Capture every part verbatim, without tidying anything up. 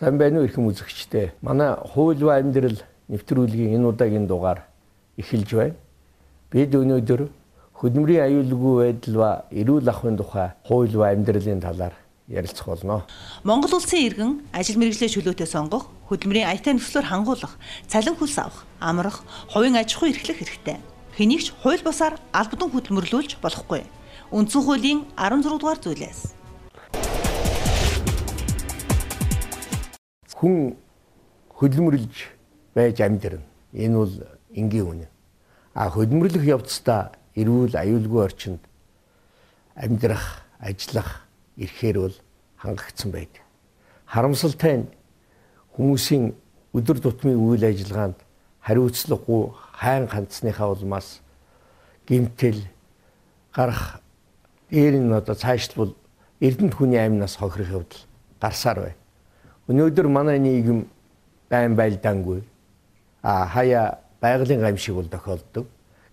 Сайн байна уу их үзэгчтэй. Манай хууль ба амьдрал нэвтрүүлгийн энэ удаагийн дугаар эхэлж байна. Бид өнөөдөр хөдөлмөрийн аюулгүй байдал ба эрүүл ахуйн тухай хууль ба амьдралын талаар ярилцах болно. Монгол улсын иргэн ажил мэргэжлийн чөлөөтэй сонгох, хөдөлмөрийн аятай нөхцлөөр хангуулах, цалин хөлс авах, амрах, хувийн аж ахуй эрхлэх хэрэгтэй. Хэнийг ч хууль бусаар албадан хөдөлмөрлүүлж болохгүй. Үндсэн хуулийн арван зургаадугаар зүйлээс хүн хөдөлмөрлж байж амьдрна. Энэ бол энгийн үнэ. А хөдөлмөрлөх явцдаа эрүүл аюулгүй орчинд амьдрах, ажиллах эрхээр бол хангагдсан байдаг. Харамсалтай нь хүмүүсийн өдөр тутмын үйл ажиллагаанд хариуцлагагүй хайн ганцныхаа улмаас гэмтэл гарах дээр нь одоо цаашлбал эрдэнэт хүний амнаас хохирох явдал гарсаар байна. Өнөөдөр манай нийгэм байн байлдаангүй а хаяа байгалийн гамшиг бол тохиолддог.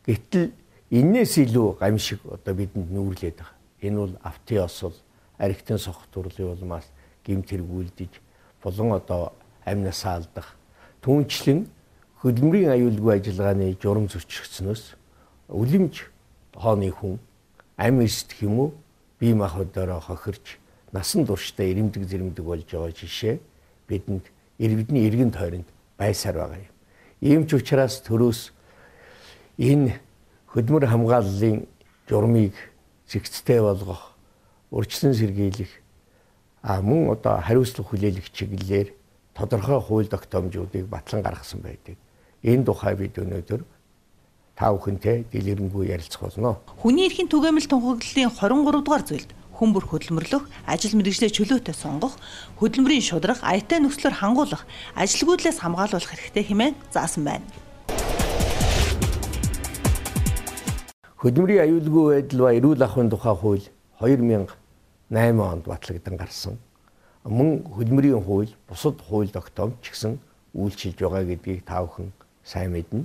Гэтэл энээс илүү гамшиг одоо бидэнд нүүрлээд байгаа. Энэ бол автын осол, архитын сохох турлын улмаас гэмт хэрэгүүлдэж болон одоо амнасаа алдах. Түүнчлэн хөдөлмөрийн аюулгүй ажиллагааны журам зөрчигдсөнөөс үлэмж хооны хүн ам эсдэх юм уу бие махбодороо хохирч насан туршдаа ирэмдэг зэрэмдэг болж байгаа жишээ бидэнд бидний эргэн тойронд байсаар байгаа юм. Ийм ч учраас төрөөс энэ хөдөлмөр хамгааллын журмыг зэгцтэй болгох, урьдчилан сэргийлэх, а мөн одоо хариуцлага хүлээлгэх чиглэлээр тодорхой хууль тогтоомжуудыг батлан гаргасан байдаг. Энэ тухай бид өнөөдөр та бүхэнтэй дэлгэрэнгүй ярилцах болно. Хүний эрхийн түгээмэл тунхаглалын хорин гурав дугаар зүйлд хүн бүр хөдөлмөрлөх, ажил мэргэжлээ чөлөөтэй сонгох, хөдөлмөрийн шударга, аятай нөхцлөөр хангуулах, ажилгүйдлээс хамгаалуулах хэрэгтэй хэмээн заасан байна. Хөдөлмөрийн аюулгүй байдал ба эрүүл ахуйн тухай хууль хоёр мянган найман онд батлагдсан гарсан. Мөн хөдөлмөрийн хууль бусад хууль тогтоомж ч гэсэн үйлчилж байгаа гэдгийг та бүхэн сайн мэднэ.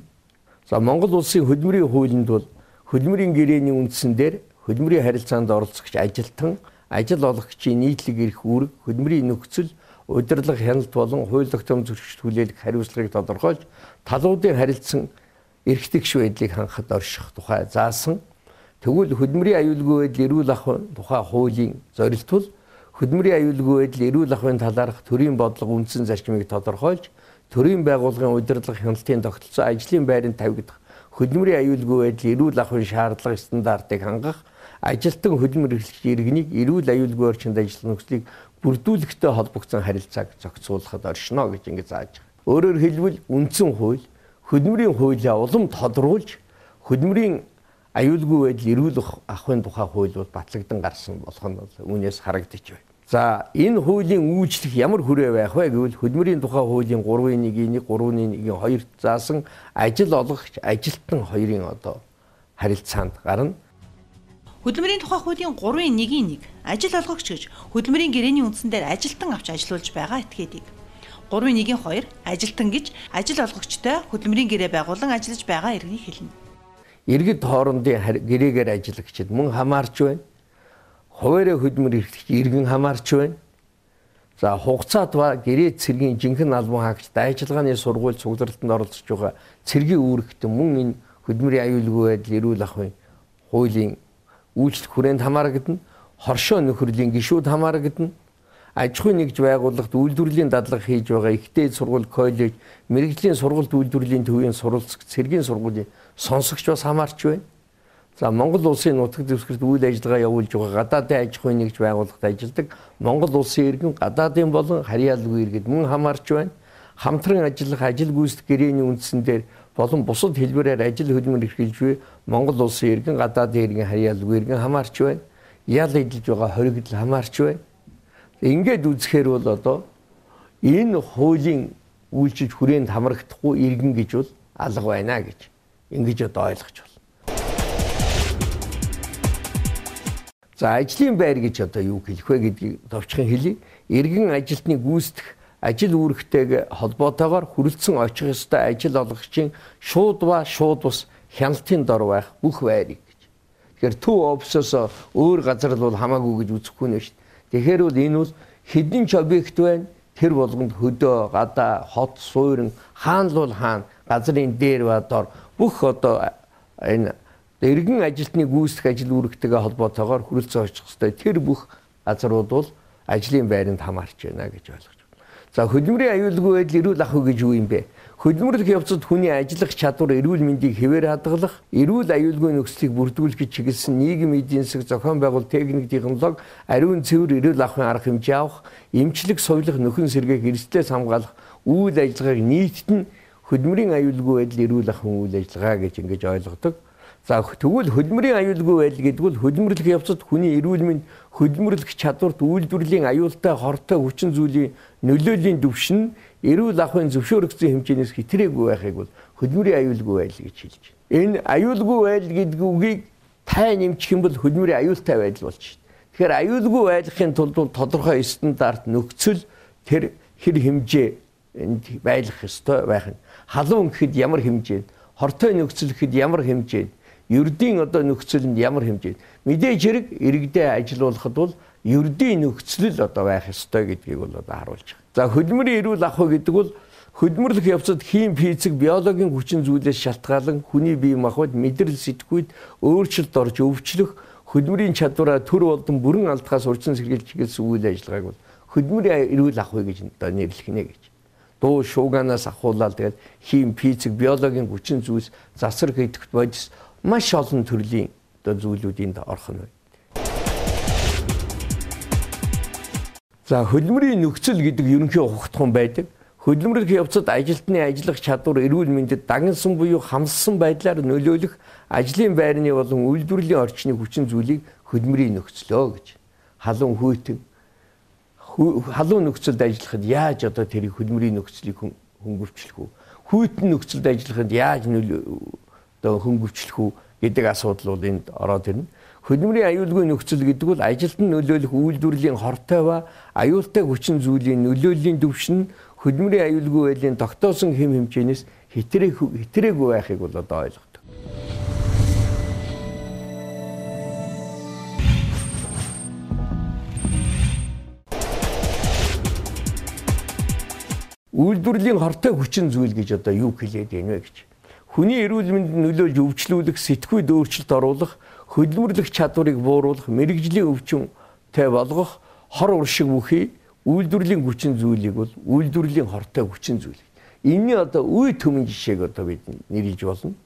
За Монгол улсын хөдөлмөрийн хуулинд бол хөдөлмөрийн гэрээний үндсэн дээр хөдөлмөрийн харилцаанд оролцогч ажилтан, ажил олгогчийн нийтлэг эрх үүрэг, хөдөлмөрийн нөхцөл, удирдлага хяналт болон хууль тогтоом зөрчилд хүлээлгэх хариуцлагыг тодорхойлж, талуудын харилцан эрх тэгш байдлыг хангахад орших тухай заасан. Тэгвэл хөдөлмөрийн аюулгүй байдал эрүүл ахуйн тухай хуулийн зорилт бол хөдөлмөрийн аюулгүй байдал эрүүл ахуйн талаарх төрийн бодлого үндсэн зарчмыг тодорхойлж, төрийн байгууллагын удирдлага хяналтын тогтолцоо ажлын байранд тавигдах хөдөлмөрийн аюулгүй байдал эрүүл ахуйн шаардлага стандартыг хангах, ажилтан хөдөлмөр эрхлэгч иргэнийг эрүүл аюулгүй орчинд ажиллах нөхцөлийг бүрдүүлэхтэй холбогдсон харилцааг зохицуулахад оршино гэж ингэ зааж байгаа. Өөрөөр хэлбэл үндсэн хууль хөдөлмөрийн хуулиа улам тодруулж хөдөлмөрийн аюулгүй байдал эрүүл ахуйн тухай хууль бол батлагдсан гарсан болох нь бол үүнээс харагдаж байна. За энэ хуулийн үйлчлэх ямар хүрээ байх вэ гэвэл хөдөлмөрийн тухай хуулийн гурван нэг нэг, гурван нэг хоёрт заасан ажил олгогч, ажилтан хоёрын одоо харилцаанд гарна. Хөдөлмөрийн тухай хуулийн гурван нэг нэг ажил олгогч гэж хөдөлмөрийн гэрээний үндсэн дээр ажилтан авч ажиллуулж байгаа этгээдэг. гурван нэг хоёр ажилтан гэж ажил олгогчтой хөдөлмөрийн гэрээ байгуулан ажиллаж байгаа иргэнийг хэлнэ. Иргэд хоорондын гэрээгээр ажиллагчид мөн хамаарч байна. Хуваарь хөдөлмөр эрхлэгч иргэн хамаарч байна. За хугацаат ба гэрээ цэргийн жинхэнэ албан хаагчид ажиллагааны сургууль цугларалтанд оролцож байгаа цэргийн үүрэгтэн мөн энэ хөдөлмөрийн аюулгүй байдал эрүүл ахуйн хуулийн үйлчлэх хүрээнд хамаарагдана. Хоршоо нөхөрлийн гишүүд хамаарагдана. Аж ахуйн нэгж байгууллагт үйлдвэрлэлийн дадлага хийж байгаа ихтэй сургууль, коллеж, мэрэгжлийн сургуульд үйлдвэрлэлийн төвийн сурвалжлагч, цэргийн сургуулийн сонсогч бас хамаарч байна. За Монгол улсын нутаг дэвсгэрт үйл ажиллагаа явуулж байгаа гадаадын аж ахуйн нэгж байгууллагт ажилладаг Монгол улсын иргэн гадаадын болон харьяалгүй иргэд мөн хамаарч байна. Хамтран ажиллах ажил гүйцэтгэх гэрээний үндсэн дээр болон бусад хэлбэрээр ажил хөдөлмөр эрхэлж буй Монгол улсын иргэн гадаадын иргэн харьяалгүй иргэн хамаарч байна. Ял эдэлж байгаа хоригдл хамаарч байна. Ингээд үзэхээр бол одоо энэ хуулийн үйлчилж хүрээнд хамрагдахгүй иргэн гэж бол алга байна гэж ингэж одоо ойлгож байна. За ажлын байр гэж одоо юу хэлэх вэ гэдгийг товчхон хэлье. Иргэн ажилтны гүйцэтгэх ажил үүрэгтэйг холбоотойгоор хүрэлцэн очих ёстой ажил олгогчийн шууд ба шууд бус хяналтын дор байх бүх байрыг гэж. Тэгэхээр төв офисоос өөр газар л бол хамаагүй гэж үзэхгүй нэ шүү дээ. Тэгэхээр бол энэ бол хэдэн ч объект байна. Тэр болгонд хөдөө, гадаа, хот, суурин, хаан л бол хаан, газрын дээр ба дор бүх одоо энэ иргэн ажилтны гүйцэтгэх ажил үүрэгтэйгээ холбоотойгоор хүрэлцэн очих ёстой тэр бүх газрууд бол ажлын байранд хамаарч байна гэж ойлгож байна. За хөдөлмөрийн аюулгүй байдал эрүүл ах уу гэж юу юм бэ? Хөдөлмөрлөх явцад хүний ажиллах чадвар, эрүүл мэндийг хэвээр хадгалах, эрүүл аюулгүй нөхцөлийг бүрдүүлэхэд чиглэсэн нийгэм эдийн засаг зохион байгуул техник технологи, ариун цэвэр эрүүл ахуйн арга хэмжээ авах, эмчлэг соёлох, нөхөн сэргээх, эрсдлээс хамгаалах үйл ажиллагааг нийтд нь хөдөлмөрийн аюулгүй байдал эрүүл ахуйн үйл ажиллагаа гэж ингэж ойлгодог. За тэгвэл хөдөлмөрийн аюулгүй байдал гэдэг бол хөдөлмөрлөх явцад хүний эрүүл мэнд, хөдөлмөрлөх чадварт үйлдвэрлэлийн аюултай хортой хүчин зүйлийн нөлөөлийн түвшин эрүүл ахуйн зөвшөөрөгдсөн хэмжээнээс хэтэрээгүй байхыг бол хөдөлмөрийн аюулгүй байдал гэж хэлж байна. Энэ аюулгүй байдал гэдэг үгийг тай нэмчих юм бол хөдөлмөрийн аюултай байдал болж байна. Тэгэхээр аюулгүй байдлахын тулд тодорхой стандарт нөхцөл тэр хэр хэмжээ энд байлгах ёстой байх нь. Халуун гэхэд ямар хэмжээнд, хортой нөхцөл гэхэд ямар хэмжээнд, ердийн одоо нөхцөлд ямар хэмжээнд мэдээж хэрэг иргэдээ ажилуулахад бол ердийн нөхцөл л одоо байх ёстой гэдгийг бол одоо харуулж байгаа. За хөдөлмөрийн эрүүл ахуй гэдэг бол хөдөлмөрлөх явцад хим, физик, биологийн хүчин зүйлээс шалтгаалan хүний бие махбод мэдрэл сэтгүйд өөрчлөлт орж өвчлөх хөдөлмөрийн чадвараа төр болон бүрэн алдахаас урьдчилан сэргийлж чиглэсэн үйл ажиллагааг бол хөдөлмөрийн эрүүл ахуй гэж одоо нэрлэх нэ гэж. Дуу шууганаас ахуулаад тэгээд хим, физик, биологийн хүчин зүйлс засвар хийх бодис маш олон төрлийн одоо зүйлүүдийн орох нь. За хөдөлмөрийн нөхцөл гэдэг ерөнхий ухагдхан байдаг. Хөдөлмөрлөх явцад ажилтны ажиллах чадвар, эрүүл мэндэд дагнсан буюу хамссан байдлаар нөлөөлөх ажлын байрны болон үйлдвэрлэлийн орчны хүчин зүйлийг хөдөлмөрийн нөхцөлөө гэж. Халуун хүйтэн халуун нөхцөлд ажиллахад яаж одоо тэрийг хөдөлмөрийн нөхцөлийг хөнгөвчлөх үү? Хүйтэн нөхцөлд ажиллахад яаж одоо хөнгөвчлөх үү гэдэг асуудал бол энд ороод ирнэ. Хөдөлмөрийн аюулгүй нөхцөл гэдэг бол ажилд нь нөлөөлөх үйлдвэрлэлийн хортой ба аюултай хүчин зүйлийн нөлөөллийн түвшин хөдөлмөрийн аюулгүй байдлын тогтоосон хэм хэмжээнээс хэтэрээгүй байхыг бол одоо ойлгодог. Үйлдвэрлэлийн хортой хүчин зүйл гэж одоо юу хэлээд байна вэ гэж. Хүний эрүүл мэндэд нөлөөлж өвчлүүлэх, сэтгүйд өөрчлөлт оруулах, хөдөлмөрлөх чадварыг бууруулах, мэрэгжлийн өвчмтэй болгох хор уршиг бүхий үйлдвэрлэлийн хүчин зүйлийг бол үйлдвэрлэлийн хортой хүчин зүйл. Энийн одоо үе төмөн жишээг одоо бид нэрлэж болно.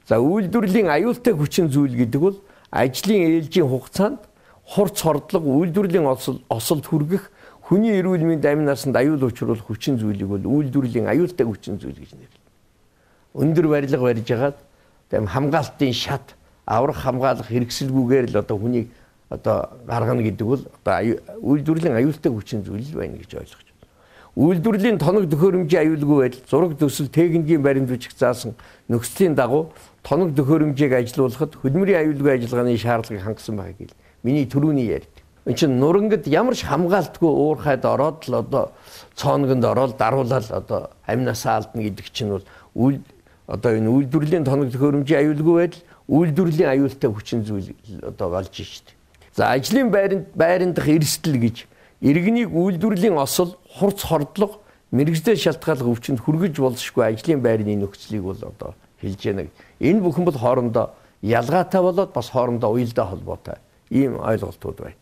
За үйлдвэрлэлийн аюултай хүчин зүйл гэдэг бол ажлын ээлжийн хугацаанд хурц хордлого, үйлдвэрлэлийн осолд хүргэх, хүний эрүүл мэнд амин насанд аюул учруулах хүчин зүйлийг бол үйлдвэрлэлийн аюултай хүчин зүйл гэж нэрлэдэг. Өндөр барилга барьж хагаад тэм хамгаалтын шат, аврах хамгаалах хэрэгсэлгүйгээр л одоо хүнийг одоо гаргана гэдэг бол одоо үйлдвэрлэлийн аюултай хүчин зүйл байна гэж ойлгож байна. Үйлдвэрлэлийн тоног төхөөрөмжийн аюулгүй байдал, зураг төсөл, техникийн баримт бичиг заасан нөхцөлийн дагуу тоног төхөөрөмжийг ажилуулахад хөдөлмөрийн аюулгүй ажиллагааны шаардлагыг хангасан байгааг хэл. Миний түрүүний ярьд. Энд чинь нурангад ямар ч хамгаалтгүй уурхайд ороод л одоо цооногонд ороод даруулаад одоо амнасаа алдна гэдэг чинь бол үйл одоо энэ үйлдвэрлэлийн тоног төхөөрөмжийн аюулгүй байдал, үйлдвэрлэлийн аюултай хүчин зүйл одоо болж штэ. За ажлын байранд байранд дах эрсдэл гэж иргэнийг үйлдвэрлэлийн осол, хурц хордлого, мэрэгжлээ шалтгааллах өвчнөд хүргэж болзошгүй ажлын байрны нөхцөлийг бол одоо хэлж яана. Энэ бүхэн бол хоорондоо ялгаатай болоод бас хоорондоо уялдаа холбоотой ийм ойлголтууд байна.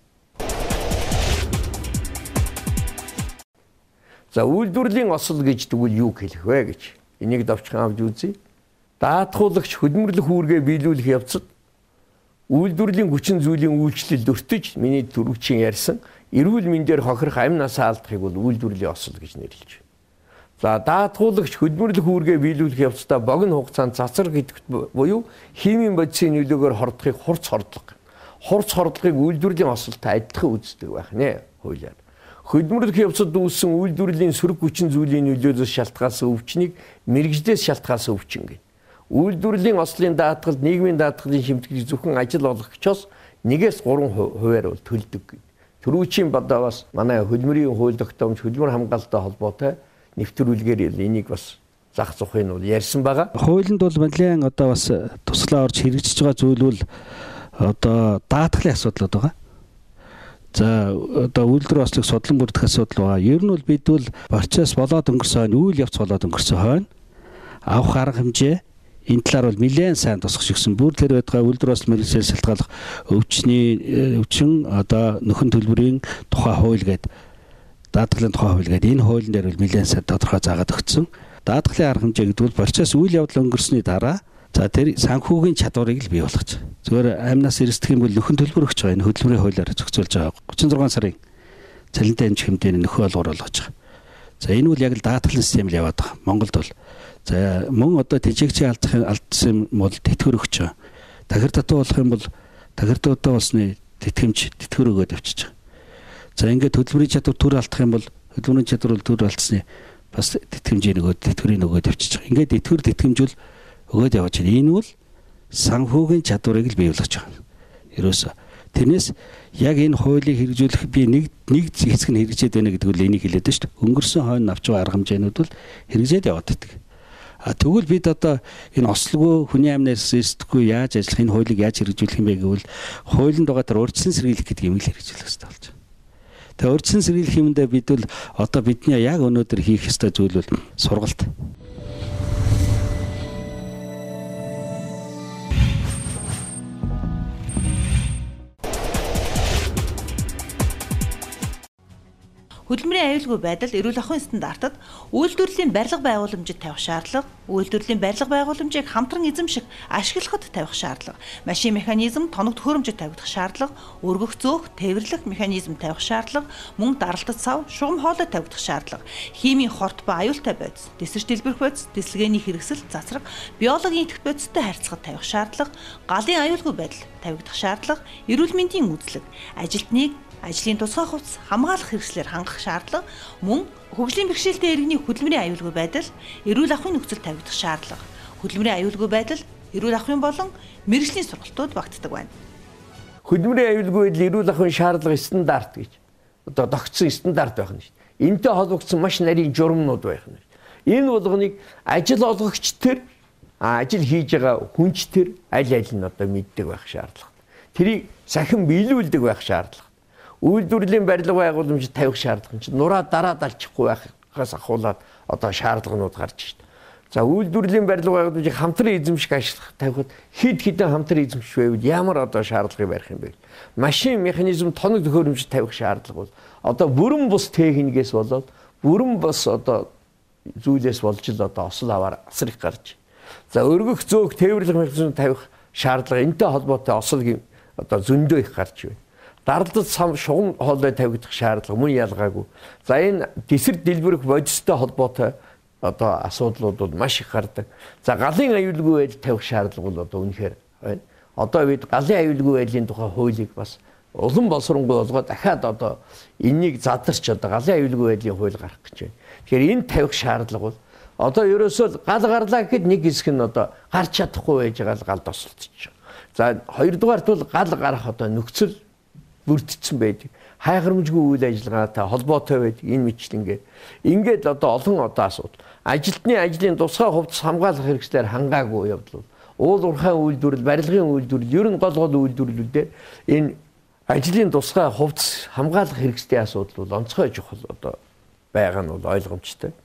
За үйлдвэрлэлийн осол гэж тэгвэл юу хэлэх вэ гэж энийг давчхан авч үзье. Даатгуулагч хөдөлмөрлөх үүргээ биелүүлэх явцад үйлдвэрлэлийн хүчин зүйлийн үйлчлэлд өртөж миний түрүүчийн ярьсан эрүүл мэндээр хохирох амь насаа алдахыг бол үйлдвэрлэлийн осол гэж нэрлэж байна. За даатгуулагч хөдөлмөрлөх үүргээ биелүүлэх явцдаа богино хугацаанд цацар гэдэгт буюу химийн бодисын нөлөөгөөр хордохыг хурц хордлого. Хурц хордлогыг үйлдвэрлэлийн осолтой адилхан үздэг байх нэ хуулиар. Хөдөлмөрлөх явцад үүссэн үйлдвэрлэлийн сөрөг хүчин зүйлийн нөлөөлөөс шалтгаалсан өвчнийг мэрэгжлээс шалтгаалсан өвчин гэнэ. Үйлдвэрлэлийн ослын даатгалд нийгмийн даатгалын шимтгэлийг зөвхөн ажил олгогчоос нэгээс гурван хувиар бол төлдөг гэнэ. Төрүүчийн бодоо бас манай хөдөлмөрийн хууль тогтоомж хөдөлмөр хамгаалалттай холбоотой нэвтрүүлгээр энийг бас зах зохыг нь бол ярьсан байгаа. Хуулинд бол нэлээд одоо бас туслаа орж хэрэгжиж байгаа зүйл бол одоо даатгалын асуудал байгаа. За одоо үйлдвэр ослыг судлан бүрдэх асуудал байгаа. Ер нь бол бид бол процесс болоод өнгөрсөн хойно, үйл явц болоод өнгөрсөн хойно авах арга хэмжээ энэ талаар бол нэлээд сайн тусгаж өгсөн. Бүр тэр байтугай үйлдвэр ослын мэргэжлээс шалтгаалах өвчний өвчин одоо нөхөн төлбөрийн тухай хууль гэдэг даатгалын тухай хууль гэдэг энэ хуулийн дээр бол нэлээд сайн тодорхой заагаад өгсөн. Даатгалын арга хэмжээ гэдэг бол процесс үйл явдал өнгөрсөний дараа за тэр санхүүгийн чадварыг л бий болгож. Зүгээр амнаас эрсдэх юм бол нөхөн төлбөр өгч байгаа. Энэ хөдөлмөрийн хуулиар зохицуулж байгаа. гучин зургаан сарын цалинтай эмч хэмжээний нөхөн олгор болгож байгаа. За энэ бол яг л даатгалын систем л яваад байгаа. Монголд бол за мөн одоо тэжээгчийн алдсан алдсан бол тэтгэр өгч байгаа. Тахир татуу болох юм бол тахиртуудаа болсны тэтгэмж тэтгэр өгөөд явчихж байгаа. За ингээд хөдөлмөрийн чадвар төр алдах юм бол хөдөлмөрийн чадвар төр алдсны бас тэтгэмжийн нөгөөд тэтгэрийн нөгөөд явчихж байгаа. Ингээд тэтгэр тэтгэмжүүл өгөөд явж байна. Энэ бол санхүүгийн чадварыг л бий болгож байгаа. Ерөөсө тэрнээс яг энэ хуулийг хэрэгжүүлэх би нэг нэг хэсэг нь хэрэгжээд байна гэдэг үл энийг хэлээд байна шүү дээ. Өнгөрсөн хойно авч байгаа арга хэмжээнүүд бол хэрэгжээд яваад байдаг. А тэгвэл бид одоо энэ ослогоо хүний амнаас эрсдэхгүй яаж ажиллах энэ хуулийг яаж хэрэгжүүлэх юм бэ гэвэл хуулинд байгаа тэр урьдчилан сэргийлэх гэдэг юм л хэрэгжүүлэх хэрэгтэй болж байна. Тэгээ урьдчилан сэргийлэх юмдаа бид бол одоо бидний яг өнөөдөр хийх ёстой зүйл бол сургалт. Хөдөлмөрийн аюулгүй байдал эрүүл ахуйн стандартад үйлдвэрлэлийн барилга байгууламжид тавих шаардлага, үйлдвэрлэлийн барилга байгууламжийг хамтран эзэмших, ашиглахад тавих шаардлага, машин механизм тоног төхөөрөмжөд тавигдах шаардлага, өргөх зөөх, тээвэрлэх механизм тавих шаардлага, мөн даралтад сав, шугам хоолой тавигдах шаардлага, химийн хорт ба аюултай бодис, дэсвэрч дэлбэрэх бодис, дэслэгээний хэрэгсэл, цацраг, биологийн идэвх бодистой харьцахад тавих шаардлага, галын аюулгүй байдал тавигдах шаардлага, эрүүл мэндийн үйлчлэг, ажилтныг ажлын тусгай хувцас хамгаалах хэрэгслээр хангах шаардлага, мөн хөгжлийн бэрхшээлтэй иргэний хөдөлмөрийн аюулгүй байдал, эрүүл ахуйн нөхцөл тавигдах шаардлага, хөдөлмөрийн аюулгүй байдал, эрүүл ахуйн болон мэргэжлийн сургалтууд багтдаг байна. Хөдөлмөрийн аюулгүй байдал, эрүүл ахуйн шаардлага стандарт гэж одоо тогтсон стандарт байх нь шүү дээ. Энтэй холбогдсон маш нарийн журмнууд байх нь. Энэ болгоныг ажил олгогч төр ажил хийж байгаа хүнч төр аль аль нь одоо мэддэг байх шаардлага. Тэрийг сахин биелүүлдэг байх шаардлага. Үйлдвэрлэлийн барилга байгууламжид тавих шаардлага чинь нураа дараад алчихгүй байхаас ахуулаад одоо шаардлаганууд гарч ирж байна. За үйлдвэрлэлийн барилга байгууламжийг хамтран эзэмших ашиглах тавихад хэд хэдэн хамтран эзэмших байвал ямар одоо шаардлагыг барих юм бэ? Машин механизм тоног төхөөрөмжид тавих шаардлага бол одоо бүрэн бус техникээс болоод бүрэн бус одоо зүйлээс болж л одоо осол аваар асар их гарч. За өргөх зөөх тээвэрлэх механизм тавих шаардлага энтэй холбоотой осол одоо зөндөө их гарч байна. Даралтад сам шугам хоолой тавигдах шаардлага мөн ялгаагүй. За энэ дэсвэр дэлбэрэх бодистой холбоотой одоо асуудлууд бол маш их гардаг. За галын аюулгүй байдал тавих шаардлага бол одоо үнэхээр байна. Одоо бид галын аюулгүй байдлын тухай хуулийг бас улам боловсронгуй болгоод дахиад одоо энийг задарч одоо галын аюулгүй байдлын хууль гарах гэж байна. Тэгэхээр энэ тавих шаардлага бол одоо ерөөсөө гал гарлаа гэхэд нэг хэсэг нь одоо гарч чадахгүй байж байгаа л гал тосолдчих. За хоёрдугаарт бол гал гарах одоо нөхцөл бүрдсэн байдаг. Хайхрамжгүй үйл ажиллагаатай холбоотой байдаг энэ мэтлэнгээр. Ингээд одоо олон одоо асуудал. Ажилтны ажлын тусгай хувцас хамгаалах хэрэгслээр хангаагүй явдал. Уул уурхайн үйлдвэрлэл, барилгын үйлдвэрлэл, ер нь гол гол үйлдвэрлэлүүдээр энэ ажлын тусгай хувцас хамгаалах хэрэгслийн асуудал бол онцгой чухал одоо байгаа нь бол ойлгомжтой.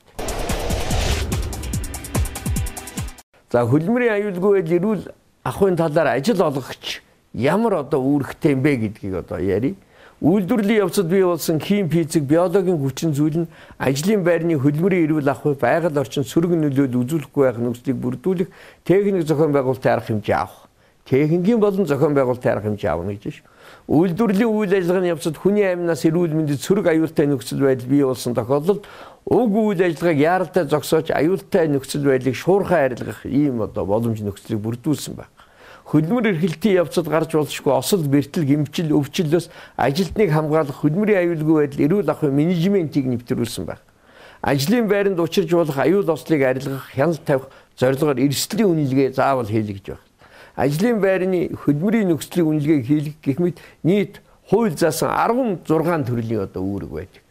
За хөдөлмөрийн аюулгүй байдал, эрүүл ахуйн талаар ажил олгогч ямар одоо үүрэгтэй юм бэ гэдгийг одоо ярив. Үйлдвэрлэлийн явцад бий болсон хим, физик, биологийн хүчин зүйл нь ажлын байрны хөдөлмөрийн эрүүл ахуй, байгаль орчин сөрөг нөлөөлөл үзүүлэхгүй байх нөхцөлийг бүрдүүлэх техник зохион байгуулалтын арга хэмжээ авах. Техникийн болон зохион байгуулалтын арга хэмжээ авах гэж байна. Үйлдвэрлэлийн үйл ажиллагааны явцад хүний амнаас эрүүл мэндэд сөрөг аюултай нөхцөл байдал бий болсон тохиолдолд уг үйл ажиллагааг яаралтай зогсоож аюултай нөхцөл байдлыг шуурхай арилгах ийм одоо боломж нөхцөлийг бүрдүүлсэн байна. хөдөлмөр эрхлэлтийн явцад гарч болшгүй осол бэртэл гэмчил өвчлөөс ажилтныг хамгаалах хөдөлмөрийн аюулгүй байдал эрүүл ахуйн менежментийг нэвтрүүлсэн байна. Ажлын байранд учирч болох аюул ослыг арилгах, хяналт тавих зорилгоор эрсдлийн үнэлгээ заавал хийлгэж байна. Ажлын байрны хөдөлмөрийн нөхцөлийн үнэлгээг хийлгэх гэх мэт нийт хууль заасан арван зургаан төрлийн одоо үүрэг байдаг.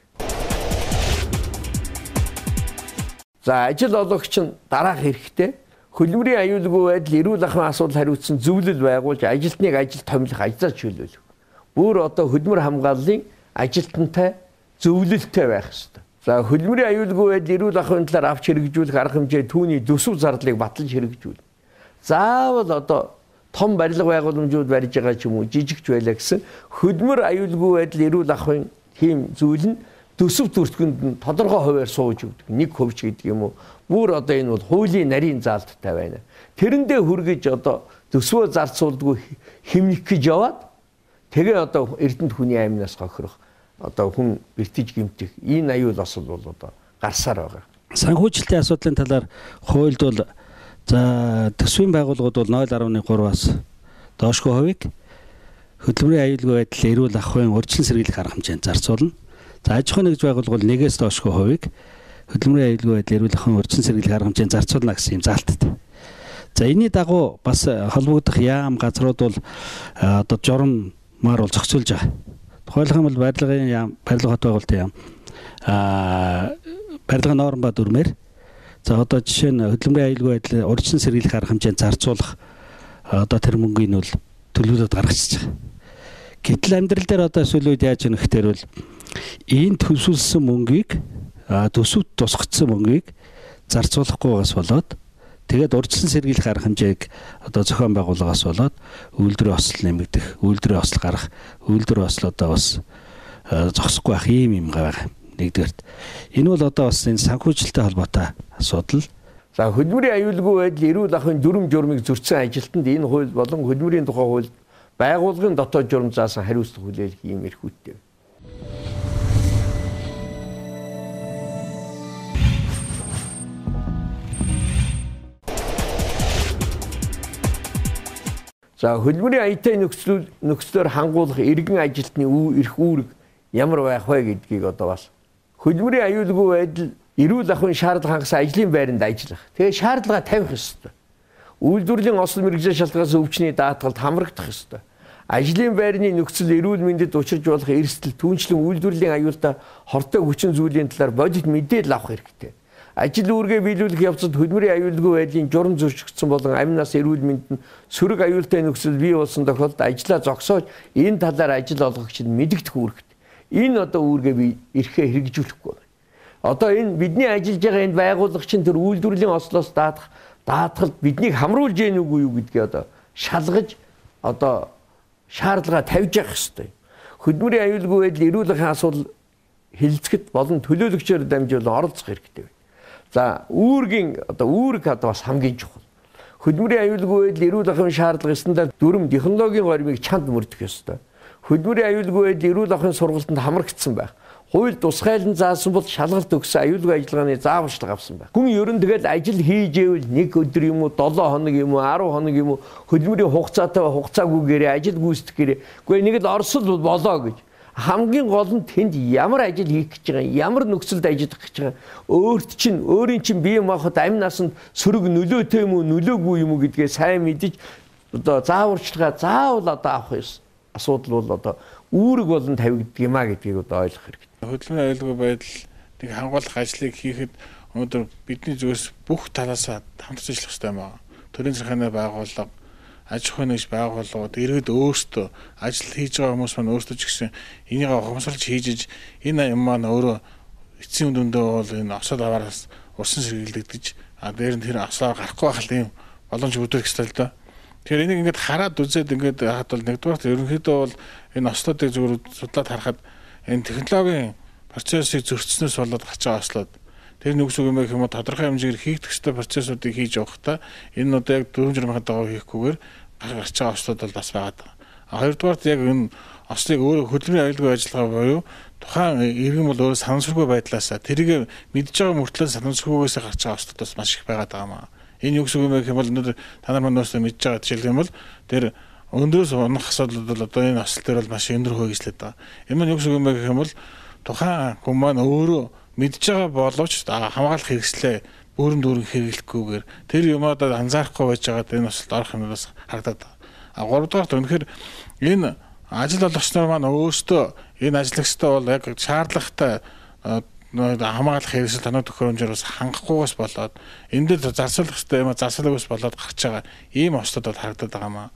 За ажил олгогч нь дараах хэрэгтэй хөдөлмөрийн аюулгүй байдал эрүүл ахуйн асуудал хариуцсан зөвлөл байгуулж ажилтныг ажил томилох ажлаа чөлөөлөх. Бүр одоо хөдөлмөр хамгааллын ажилтнтай зөвлөлттэй байх хэрэгтэй. За хөдөлмөрийн аюулгүй байдал эрүүл ахуйн талаар авч хэрэгжүүлэх арга хэмжээ түүний төсөв зардлыг баталж хэрэгжүүлнэ. Заавал одоо том барилга байгууламжууд барьж байгаа ч юм уу жижигч байлаа гэсэн хөдөлмөр аюулгүй байдал эрүүл ахуйн тийм зүйл нь төсөв төртгөнд нь тодорхой хувиар сууж өгдөг. Нэг хувь ч гэдэг юм уу. Бүр одоо энэ бол хуулийн нарийн заалттай байна. Тэрэндээ хүргэж одоо төсвөө зарцуулдгүй хэмнэх гэж яваад тэгээ одоо эрдэнэт хүний амнаас хохирох одоо хүн бэртэж гэмтэх энэ аюул осол бол одоо гарсаар байгаа. Санхүүжилтийн асуудлын талаар хуульд бол за төсвийн байгууллагууд бол нуль гаруй гураас доошгүй хувийг хөдөлмөрийн аюулгүй байдал эрүүл ахуйн урьдчилан сэргийлэх арга хэмжээнд зарцуулна. За аж ахуйн нэгж байгууллага бол нэгээс доошгүй хувийг хөдөлмөрийн аюулгүй байдал эрүүл ахуйн урьдчилан сэргийлэх арга хэмжээнд зарцуулна гэсэн юм заалттай. За энэний дагуу бас холбогдох яам газрууд бол одоо жураммаар бол зохицуулж байгаа. Тухайлх юм бол барилгын яам, барилга хот байгуулалтын яам аа барилгын норм ба дүрмээр за одоо жишээ нь хөдөлмөрийн аюулгүй байдал урьдчилан сэргийлэх арга хэмжээнд зарцуулах одоо тэр мөнгөний нь бол төлөвлөлт гаргачихж байгаа. Гэтэл амьдрал дээр одоо сүүлийн үед яаж өгөх гэхээр бол энэ төлөвлөсөн мөнгийг төсөвт тусгацсан мөнгийг зарцуулахгүйгаас болоод тэгээд урьдчилан сэргийлэх арга хэмжээг одоо зохион байгууллагаас болоод үйлдвэрийн осол нэмэгдэх, үйлдвэрийн осол гарах, үйлдвэрийн осол одоо бас зогсохгүй байх юм юм байгаа. Нэгдүгээрт энэ бол одоо бас энэ санхүүжилттэй холбоотой асуудал. За хөдөлмөрийн аюулгүй байдал эрүүл ахуйн дүрм журмыг зөрчсөн ажилтнанд энэ хууль болон хөдөлмөрийн тухай хууль байгууллагын дотоод журам заасан хариуцлага хүлээх юм эрхүүдтэй. За хөдөлмөрийн аюултай нөхцөл нөхцлөөр хангуулах иргэн ажилтны эрх үүрэг ямар байх вэ гэдгийг одоо бас хөдөлмөрийн аюулгүй байдал эрүүл ахуйн шаардлага хангасан ажлын байранд ажиллах. Тэгээ шаардлага тавих ёстой. Үйлдвэрлэлийн осол мэргэжлийн шалтгаанаас өвчний даатгалд хамрагдах ёстой. Ажлын байрны нөхцөл эрүүл мэндэд учирч болох эрсдэл түүнчлэн үйлдвэрлэлийн аюултай хортой хүчин зүйлийн талаар бодит мэдээлэл авах хэрэгтэй. Ажил үүргээ биелүүлэх явцад хөдөлмөрийн аюулгүй байдлын журам зөрчигдсөн болон амнаас эрүүл мэндэд сөрөг аюултай нөхцөл бий болсон тохиолдолд ажлаа зогсоож энэ талаар ажил олгогчид мэдэгдэх үүрэгтэй. Энэ одоо үүргээ би эрхээ хэрэгжүүлэхгүй байна. Одоо энэ бидний ажиллаж байгаа энэ байгууллага чинь тэр үйлдвэрлэлийн ослоос даатах даатгалд биднийг хамруулж яах нүггүй юу гэдгийг одоо шалгаж одоо шаардлага тавьж явах хэрэгтэй. Хөдөлмөрийн аюулгүй байдал эрүүл ахуйн асуудал хилцэхэд болон төлөөлөгчөөр дамжуулан оролцох хэрэгтэй. За үүргийн одоо үүрэг одоо бас хамгийн чухал. Хөдөлмөрийн аюулгүй байдал эрүүл ахуйн шаардлага стандарт дүрм технологийн гормыг чанд мөрдөх ёстой. Хөдөлмөрийн аюулгүй байдал эрүүл ахуйн сургалтанд хамрагдсан байх. Хууль тусгайлан заасан бол шалгалт өгсөн аюулгүй ажиллагааны зааварчилга авсан байх. Хүн ерөн тэгэл ажил хийж ивэл нэг өдөр юм уу, долоо хоног юм уу, арав хоног юм уу хөдөлмөрийн хугацаатай хугацаагүйгээр ажил гүйцэтгэх гэрээ. Гэхдээ нэг л орсол болоо гэж. Хамгийн гол нь тэнд ямар ажил хийх гэж байгаа, ямар нөхцөлд ажиллах гэж байгаа. Өөрт чинь өөрийн чинь бие махбод амь насанд сөрөг нөлөөтэй юм уу, нөлөөгүй юм уу гэдгээ сайн мэдэж одоо зааварчилгаа заавал одоо авах ёс. Асуудал бол одоо үүрэг болон тавигддаг юм а гэдгийг одоо ойлгох хэрэгтэй. Хөдөлмөрийн аюулгүй байдлыг хангуулах ажлыг хийхэд өнөөдөр бидний зүгээс бүх талаас хамтарч ажиллах хэрэгтэй юм аа. Төрийн захиргааны байгууллага, аж ахуйн нэгж байгууллагууд иргэд өөрсдөө ажил хийж байгаа хүмүүс маань өөрсдөө ч гэсэн энийг ухамсарлаж хийж энэ юм маань өөрөө эцсийн дүндээ бол энэ осол аваараас урсан сэргийлэгдэж а дээр нь тэр осоо гарахгүй байх юм боломж үүдэх ёстой л доо. Тэгэхээр энийг ингээд хараад үзээд ингээд хаад бол нэгдүгээр ерөнхийдөө бол энэ ослуудыг зөвхөн судлаад харахад энэ технологийн процессыг зөрчснөөс болоод гарч байгаа ослууд тэр нүгс үг юм байх юм уу тодорхой хэмжээгээр хийгдэх ёстой процессуудыг хийж явахдаа энэ одоо яг дөрвөн журмын дагуу хийхгүйгээр гарч байгаа ослууд бол бас байгаа. А хоёрдугаарт яг энэ ослыг өөрөө хөдөлмөрийн аюулгүй ажиллагаа буюу тухайн иргэн бол өөрөө санамсаргүй байдлаасаа тэрийг мэдж байгаа мөртлөө санамсаргүйгээс гарч байгаа ослууд бас маш их байгаа даа. Энэ юу гэсэн үг юм бэ гэх юм бол өнөөдөр та нар маань өөрсдөө мэдж байгаа жишээлх юм бол тэр өндрөөс унах асуудлууд бол одоо энэ осол дээр бол маш өндөр хөөжлөд байгаа. Энэ маань юу гэсэн үг юм бэ гэх юм бол тухайн хүн маань өөрөө мэдж байгаа боловч хамгаалах хэрэгслээ бүрэн дүүрэн хэрэглэхгүйгээр тэр юмудад анзаарахгүй байж байгаад энэ осолд орох юм бас харагдаад байгаа. А гуравдугаар үнэхээр энэ ажил олгогчнор маань өөрсдөө энэ ажиллагчтай бол яг шаардлагатай хамгаалах хэрэгсэл танаа төхөөрөмжөөр бас хангахгүйгээс болоод энэ дээр зарцуулах хэрэгтэй юм зарцуулаагүйс болоод гарч байгаа ийм ослууд бол харагдаад байгаа маа.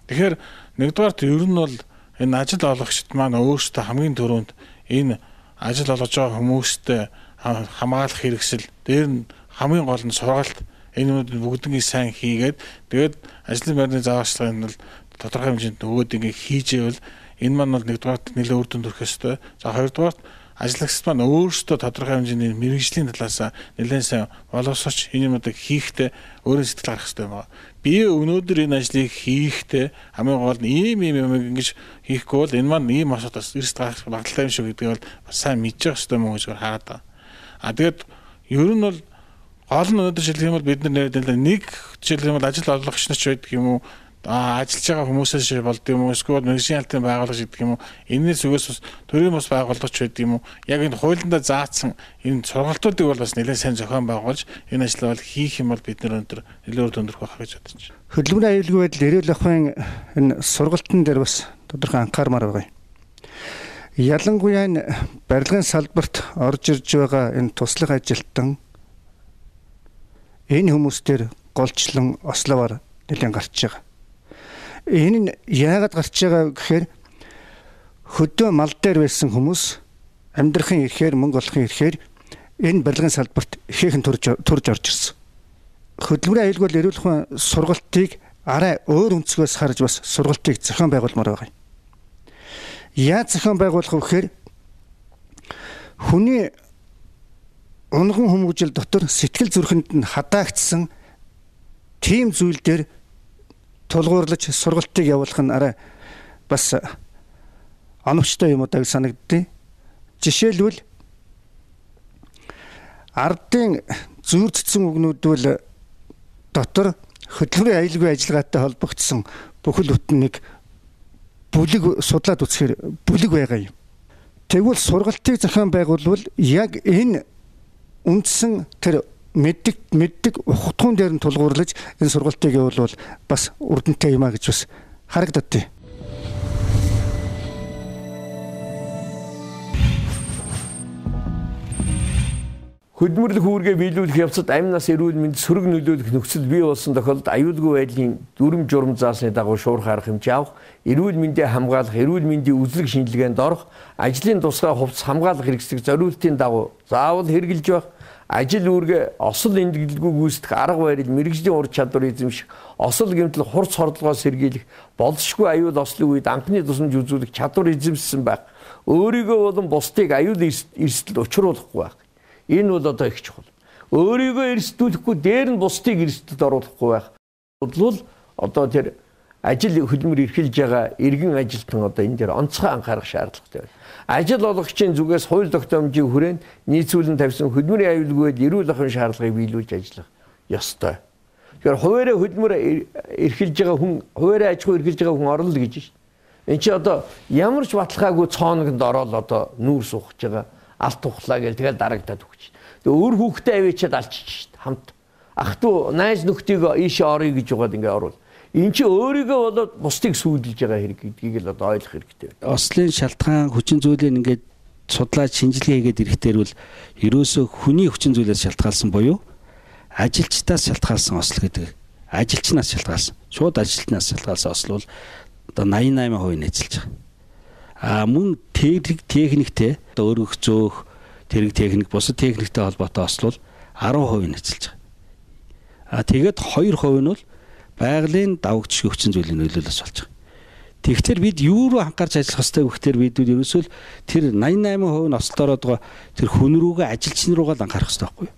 Тэгэхээр нэгдүгээрт ер нь бол энэ ажил олгогчд маань өөрсдөө хамгийн түрүүнд энэ ажил олгож байгаа хүмүүстэй хамгаалах хэрэгсэл дээр нь хамгийн гол нь сургалт энэ бүгднийг сайн хийгээд тэгээд ажлын байрны зааварчилгааны бол тодорхой хэмжээнд нөгөөд ингээ хийжээвэл энэ маань бол нэгдүгээрт нэлээд үр дүнд хүрэх ёстой. За хоёрдугаарт ажлагчид маань өөрсдөө тодорхой хэмжээний мэргэжлийн талаас нэлээд сайн боловсрч энэ юмудыг хийхдээ өөрөө сэтгэл гаргах хэрэгтэй байна. Би өнөөдөр энэ ажлыг хийхдээ хамгийн гол нь ийм ийм юм ингэж хийхгүй бол энэ маань ийм асуудаас эрс гарах магадлалтай юм шиг гэдгийг бол бас сайн мэдчих хэрэгтэй мөн гэж хараад байна. А тэгээд ер нь бол гол нь өнөөдөр жишээлх юм бол бид нар нэг жишээлх юм бол ажил олгогч нар ч байдаг юм уу ажиллаж байгаа хүмүүсээс болд юм уу эсвэл мэргэжлийн албан байгуулагч гэдэг юм уу энэний зүгээс бас төрийн бас байгуулагч байдаг юм уу яг энэ хуулиндаа заасан энэ сургалтуудыг бол бас нэлээд сайн зохион байгуулж энэ ажлаа бол хийх юм бол бид нар өндөр нэлээд үр дүндэрх байх гэж бодож байна. Хөдөлмөрийн аюулгүй байдал эрүүл ахуйн энэ сургалтын дээр бас тодорхой анхаармаар байгаа. Ялангуяа энэ барилгын салбарт орж ирж байгаа энэ туслах ажилтан энэ хүмүүстэр голчлон ословоор нэлээд гарч байгаа. Энэ нь яагаад гарч байгаа гэхээр хөдөө мал дээр байсан хүмүүс амьдрахын ирэхээр мөнгө олохын ирэхээр энэ барилгын салбарт ихээхэн турж турж орж ирсэн. Хөдөлмөрийн аюулгүй эрүүл ахуйн сургалтыг арай өөр өнцгөөс харж бас сургалтыг зохион байгуулмаар байгаа юм. Яаж зохион байгуулах вэ гэхээр хүний унган хүмүүжил дотор сэтгэл зүрхэнд нь хадаагдсан тийм зүйл дээр тулгуурлаж сургалтыг явуулах нь арай бас оновчтой юм уу гэж санагддیں۔ Жишээлбэл ардын зүйрцсэн үгнүүдвэл дотор хөдөлмөрийн аюулгүй ажиллагаатай холбогдсон бүхэл бүтнийг бүлэг судлаад үзэхээр бүлэг байгаа юм. Тэгвэл сургалтыг зохион байгуулвал яг энэ үндсэн тэр мэддэг мэддэг ухтгуун дээр нь тулгуурлаж энэ сургалтыг явуулвал бас үрдэнтэй юм а гэж бас харагддээ. Хөдөлмөрлөх үүргээ биелүүлэх явцад амь нас эрүүл мэнд сөрөг нөлөөлөх нөхцөл бий болсон тохиолдолд аюулгүй байдлын дүрм журам заасны дагуу шуурх арга хэмжээ авах, эрүүл мэндийг хамгаалах, эрүүл мэндийн үзлэг шинжилгээнд орох, ажлын тусгай хувцас хамгаалах хэрэгслийг зориултын дагуу заавал хэрэгжилж байх, ажил үүргээ осол эндгэлгүй гүйцэтгэх арга барил, мэргэжлийн ур чадвар эзэмших, осол гэмтэл хурц хордлогоос сэргийлэх, болзошгүй аюул ослын үед анхны тусламж үзүүлэх чадвар эзэмшсэн байх, өөрийгөө болон бусдыг аюул эрсдэлд учруулахгүй байх. Энэ бол одоо их чухал. Өөрийгөө эрсдүүлэхгүй дээр нь бусдыг эрсдэлд оруулахгүй байх. Бодлол одоо тэр ажил хөдөлмөр эрхэлж байгаа иргэн ажилтан одоо энэ дээр онцгой анхаарах шаардлагатай байна. Ажил олгогчийн зүгээс хууль тогтоомжийн хүрээнд нийцүүлэн тавьсан хөдөлмөрийн аюулгүй эрүүл ахуйн шаардлагыг биелүүлж ажиллах ёстой. Тэгэхээр хуваараа хөдөлмөр эрхэлж байгаа хүн, хуваараа аж ахуй эрхэлж байгаа хүн орно л гэж байна. Энд чи одоо ямар ч баталгаагүй цооногд ороод одоо нүүр сухаж байгаа алт тухлаа гэл тэгэл дарагдаад өгч. Тэгээ өөр хүүхдээ авчиад алчиж шít хамт. Ах トゥ найз нөхдийг ийшээ орё гэж угаад ингээ оруул. Энд чи өөрийгөө болоод бусдыг сүйдэлж байгаа хэрэг гэдгийг л одоо ойлгох хэрэгтэй. Ослын шалтгаан хүчин зүйлийг ингээд судлаад шинжилгээ хийгээд ирэхтэр бол ерөөсөө хүний хүчин зүйлээс шалтгаалсан буюу ажилчдаас шалтгаалсан осол гэдэг. Ажилчнаас шалтгаалсан. Шууд ажилтнаас шалтгаалсан осол бол одоо восемьдесят восемь процент нэзэлж байгаа. А мөн техник техниктэй өөрөх зөөх тэрэг техник бусад техниктэй холбоотой ослол ten percent нэзэлж байгаа. А тэгээд two percent нь бол байгалийн давагч хүчин зүйлийн нөлөөлөөс болж байгаа. Тэгэхээр бид юу руу анхаарч ажиллах ёстой вэ гэхээр бид ерөөсөө тэр ninety-eight percent нь ослолоор байгаа тэр хүн рүүгээ ажилчин руугаа л анхаарах ёстой байхгүй юу?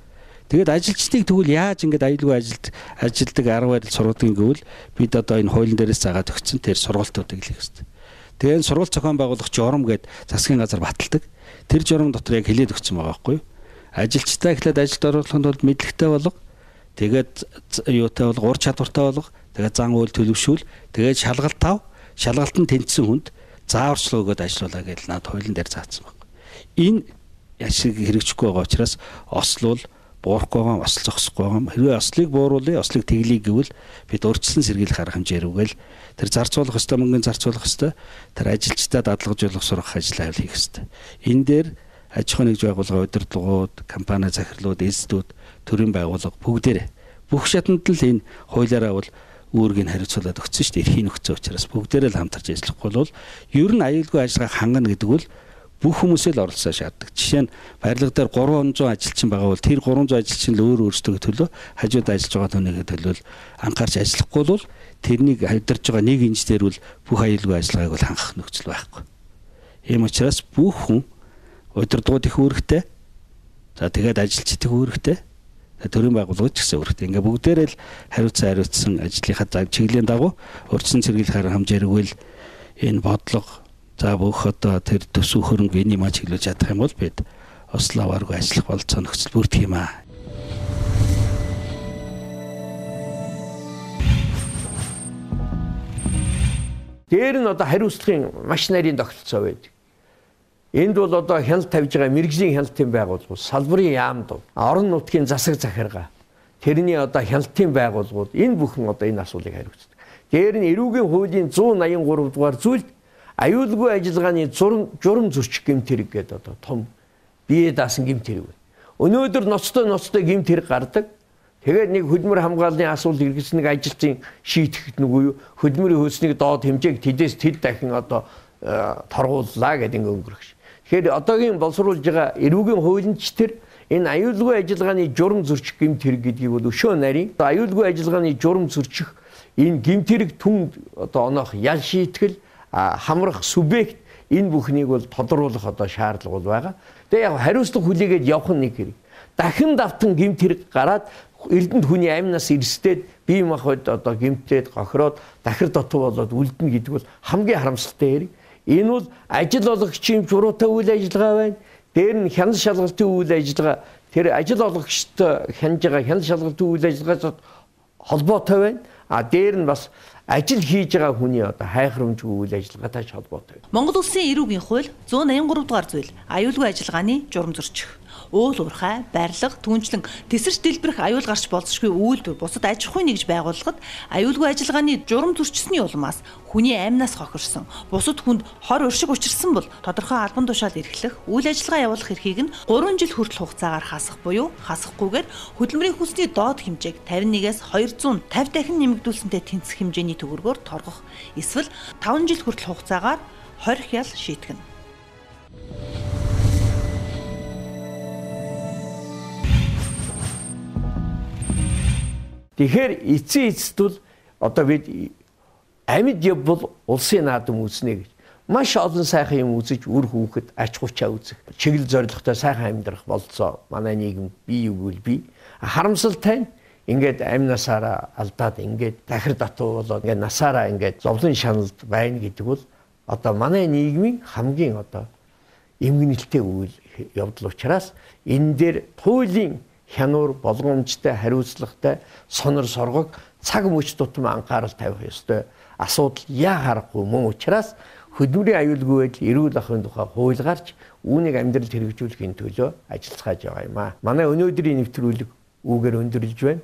Тэгээд ажилчдыг тэгвэл яаж ингэж аюулгүй ажилд ажилдаг арга барил сургалтын гэвэл бид одоо энэ хуулийн дээрээс заагаад өгсөн тэр сургалтуудыг л хийх ёстой. Тэгээд сургалт зохион байгуулах журам гээд засгийн газар баталдаг. Тэр журам дотор яг хилээд өгсөн байгаа байхгүй юу? Ажилчдаа эхлээд ажилд оруулахын тулд мэдлэгтэй болго. Тэгээд юутай бол ур чадвартай болох, тэгээд зан үйл төлөвшүүл, тэгээд шалгалт тав, шалгалтанд тэнцсэн хүнд зааварчлал өгөөд ажиллуулаа гэж над хуулийн дээр заасан байна. Энэ яшиг хэрэгжихгүй байгаа учраас ослол буурахгүй байгаа, осол зогсохгүй байгаа. Хэрвээ ослыг бууруулъя, ослыг тэглэе гэвэл бид урьдчилан сэргийлэх арга хэмжээ рүүгээл тэр зарцуулах ёстой мөнгөний зарцуулах ёстой, тэр ажилчдаа дадлагжуулах сургах ажил хийх ёстой. Энэ дээр аж ахуйн нэгж байгууллага, удирдлагууд, компани захирлууд, эзэдүүд, төрийн байгууллага бүгдээрээ бүх шатанд л энэ хуулиараа бол үүргийг хариуцуулаад өгсөн шүү дээ. Эрхийн нөхцөл учраас бүгдээрээ л хамтарч ажиллахгүй бол ер нь аюулгүй ажиллагааг хангана гэдэг бол бүх хүмүүсээ л оролцоо шаарддаг. Жишээ нь барилга дээр гурван зуун ажилчин байгаа бол тэр гурван зуун ажилчин л өөр өөрсдөө төлөө хажууд ажиллаж байгаа түүнийгээ төлөө анхаарч ажиллахгүй бол тэрнийг хавьдарж байгаа нэг инженер бол бүх аюулгүй ажиллагааг бол хангах нөхцөл байхгүй. Ийм учраас бүх хүн удирдлагууд их үүрэгтэй. За тэгээд ажилчид их үүрэгтэй. Төрийн байгууллагууд ч гэсэн үүрэгтэй. Ингээ бүгдээрээ л хариуцсан хариуцсан ажлынхаа зав чиглэлийн дагуу урьдчилан сэргийлэх арга хэмжээргүй л энэ бодлого за бүх одоо тэр төсөв хөрөнгө энийг маа чиглүүлж чадах юм бол бид ослоо авааргүй ажиллах болцоо нөхцөл бүрдэх юм аа. Дээр нь одоо хариуцлагын маш нарийн тогтолцоо байдаг. Энд бол одоо хяналт тавьж байгаа мэрэгжлийн хяналтын байгууллагууд, салбарын яамд, орон нутгийн засаг захиргаа, тэрний одоо хяналтын байгууллагууд энэ бүхэн одоо энэ асуулыг хариуцдаг. Дээр нь эрүүгийн хуулийн зуун найман гурав дугаар зүйлд аюулгүй ажиллагааны журам журам зөрчих гэмт хэрэг гэдэг одоо том бие даасан гэмт хэрэг байна. Өнөөдөр ноцтой ноцтой гэмт хэрэг гардаг. Тэгээд нэг хөдөлмөр хамгааллын асуулт иргэсэн нэг ажилтны шийтгэхэд нүггүй юу хөдөлмөрийн хөлснийг доод хэмжээг тэдээс тэд дахин одоо торгууллаа гэдэг ингэ өнгөрөх ш. Тэгэхээр одоогийн боловсруулж байгаа эрүүгийн хуулинч тэр энэ аюулгүй ажиллагааны журам зөрчих гэмт хэрэг гэдгийг бол өшөө нарийн аюулгүй ажиллагааны журам зөрчих энэ гэмт хэрэг түн одоо оноох ял шийтгэл хамрах субъект энэ бүхнийг бол тодруулах одоо шаардлага бол байгаа. Тэгээ яг хариуцлага хүлээгээд явах нэг хэрэг. Дахин давтан гэмт хэрэг гараад эрдэнэт хүний амнаас эрсдээд бие махбод одоо гэмтээд гохироод дахир дотоо болоод үлдэнэ гэдэг бол хамгийн харамсалтай хэрэг. Энэ бол ажил олгогчийн журуутай үйл ажиллагаа байна. Дээр нь хяналт шалгалтын үйл ажиллагаа тэр ажил олгогчтой хянаж байгаа хяналт шалгалтын үйл ажиллагаанд холбоотой байна. А дээр нь бас ажил хийж байгаа хүний одоо хайхрамжгүй үйл ажиллагаатай холбоотой. Монгол Улсын эрүүгийн хууль зуун найман гурав дугаар зүйл аюулгүй ажиллагааны журам зөрчих. Уул уурхай, барилга, түнчлэн тесэрч дэлбэрэх аюул гарч болзошгүй үйлдвэр бусад аж ахуйн нэгж байгууллагад аюулгүй ажиллагааны журам зөрчсөний улмаас хүний амнаас хохирсон, бусад хүнд хор уршиг учирсан бол тодорхой албан тушаал эрхлэх, үйл ажиллагаа явуулах эрхийг нь гурван жил хүртэл хугацаагаар хасах буюу хасахгүйгээр хөдөлмөрийн хүнсний доод хэмжээг тавин нэгээс двухсад и пятьдесят дахин нэмэгдүүлсэнтэй тэнцэх хэмжээний төгрөгөөр торгох, эсвэл таван жил хүртэл хугацаагаар хорих ял шийтгэнэ. Тэгэхээр эцсийн эцэст бол одоо бид амьд явбал улсын наадам үүснэ гэж маш олон сайхан юм үзэж үр хүүхэд ач хучаа үзэх чиглэл зорилготой сайхан амьдрах болцоо манай нийгэм бий өгвөл бий харамсалтай ингээд амнасаараа алдаад ингээд дахир датуу болоод ингээд насаараа ингээд зовлон шаналд байна гэдэг бол одоо манай нийгмийн хамгийн одоо эмгэнэлтэй үйл явдал учраас энэ дээр хуулийн хянуур болгоомжтой хариуцлагатай сонор соргог цаг мөч тутам анхаарал тавих ёстой асуудал яа харахгүй мөн учраас хөдөлмөрийн аюулгүй байдал эрүүл ахуйн тухай хууль гарч үүнийг амьдралд хэрэгжүүлэхийн төлөө ажиллаж байгаа юм аа. Манай өнөөдрийн нэвтрүүлэг үүгээр өндөрлөж байна.